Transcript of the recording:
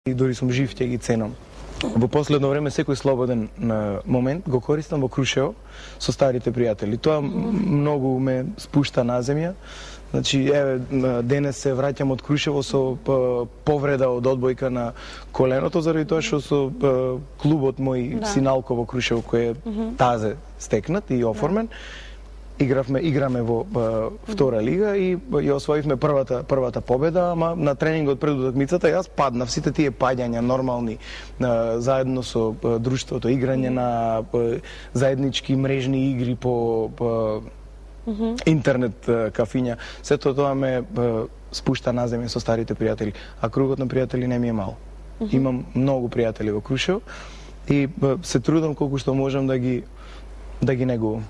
и дори сум жив ќе ги ценам. Во последно време секој слободен момент го користам во Крушево со старите пријатели. Тоа многу ме спушта на земја. Значи, еве, денес се враќам од Крушево со повреда од одбојка на коленото, заради тоа што со клубот мој Синалко во Крушево, кој е тазе стекнат и оформен, играме во втора лига и ја освоивме првата победа, ама на тренингот пред утакмицата јас паднав. Сите тие паѓања нормални заедно со друштвото, играње на заеднички мрежни игри по интернет кафиња, сето тоа ме спушта на земја со старите пријатели, а кругот на пријатели не ми е мал. Имам многу пријатели во Крушево и се трудам колку што можам да ги негувам.